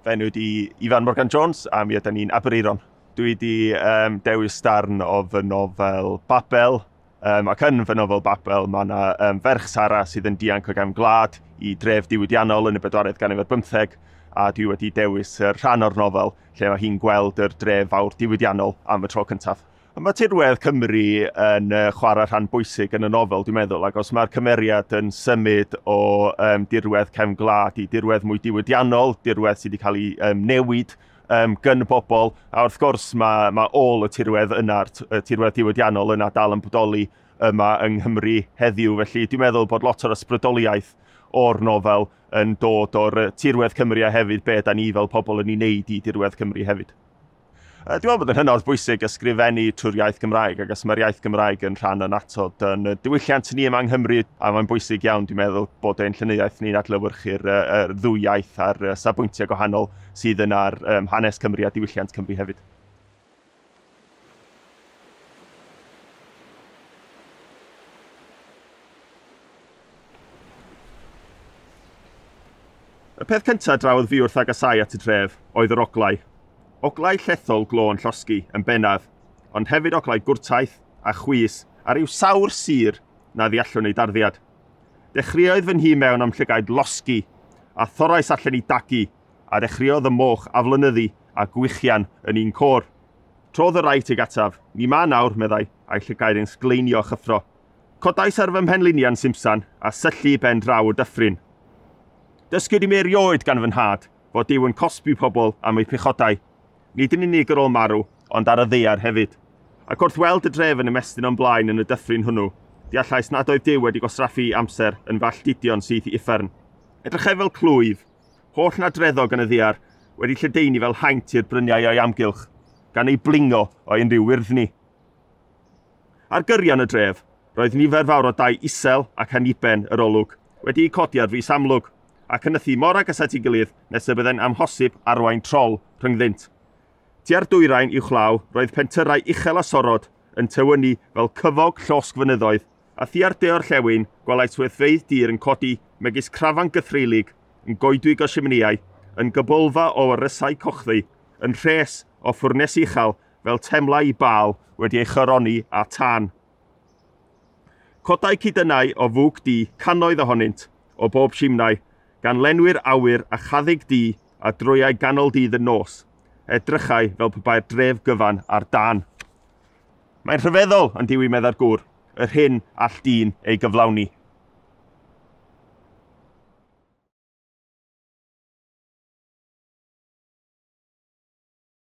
Fy enw ydi Ifan Morgan Jones a mi ydan ni'n Aberaeron. Dwi wedi dewis darn o fy nofel Babel, ac yn fy nofel Babel mae yna ferch Sara sydd yn dianc o gefn gwlad i dref diwydiannol yn y bedwaredd ganrif ar bymtheg, a dwi wedi dewis y rhan o'r nofel lle mae hi'n gweld yr dref fawr diwydiannol am y tro cyntaf. Mae tirwedd Cymru yn chwarae rhan bwysig yn y nofel, dwi'n meddwl, ac os mae'r cymeriad yn symud o dirwedd cefn gwlad i dirwedd mwy diwydiannol, dirwedd sydd wedi cael ei newid gyn bobl, a wrth gwrs mae ôl y tirwedd yna, y tirwedd diwydiannol yna dal yn bodoli yma yng Nghymru heddiw, felly dwi'n meddwl bod lot o'r ysbrydoliaeth o'r nofel yn dod o'r tirwedd Cymru a hefyd be da ni fel pobl yn ei wneud i dirwedd Cymru hefyd. Dwi'n meddwl bod yn hynod bwysig ysgrifennu trwy'r iaith Gymraeg, ac os mae'r iaith Gymraeg yn rhan annatod yn diwylliant ni yma yng Nghymru, a mae'n bwysig iawn, dwi'n meddwl, bod ein llenyddiaeth ni'n adlewyrchu'r ddwy iaith a'r safbwyntiau gwahanol sydd yn ar hanes Cymru a diwylliant Cymru hefyd. Y peth cyntaf drawodd fi wrth agosáu at y dref oedd yr oglau. Oglau llethol glo yn llosgi yn bennaf, ond hefyd oglau gwrtaith a chwys a rhyw sawr sur na ddeallwn ei darddiad. Dechreuodd fy nhŷ mewn a'm llygaid losgi, a thorrais allan i dagu, a dechreuodd y moch aflonyddu a gwichian yn un côr. Trodd y rai tuag ataf, "Ni 'ma nawr," meddai, a'i llygaid yn sgleinio a chyffro. Codais ar fy mhenliniau'n simsan a syllu i ben draw y dyffryn. Dysgwyd i mi erioed gan fy nhad fod Duw yn cosbi pobl am eu pechodau, nid yn unig ar ôl marw, ond ar y ddaear hefyd. Ac wrth weld y dref yn ymestyn o'm blaen yn y dyffryn hwnnw, deallais nad oedd Duw wedi gwastraffu amser yn fy alltudio'n syth i uffern. Edrychai fel clwyf, holl nadreddog yn y ddaear, wedi lledaenu fel haint i'r bryniau o'i amgylch, gan ei blingo o unrhyw wyrddni. Ar gyrion y dref, roedd nifer fawr o dai isel ac anniben yr olwg, wedi'u codi ar frys amlwg, ac yn nythu mor agos at ei gilydd nes y byddai'n amhosib arwain trol rhyngddynt. Tua'r dwyrain uwchlaw roedd pentyrrau uchel a sorod yn tywynnu fel cyfog llosg fynyddoedd, a thua'r de-orllewin gwelais swyddfeydd dir yn codi megis crafan gythreulig, yn goedwig o simneiau, yn gybolfa o warysau cochddu, yn rhes o ffwrnesi uchel fel temlau i Baal wedi ei choroni â tân. Codai cudynnau o fwg du, cannoedd ohonynt, o bob simnai, gan lenwi'r awyr â chaddug du a drwyau ganol dydd yn nos. Edrychai fel pe bai'r dref gyfan ar dân. Mae'n rhyfeddol, yn diwy, meddai'r gŵr, yr hyn all dyn ei gyflawni.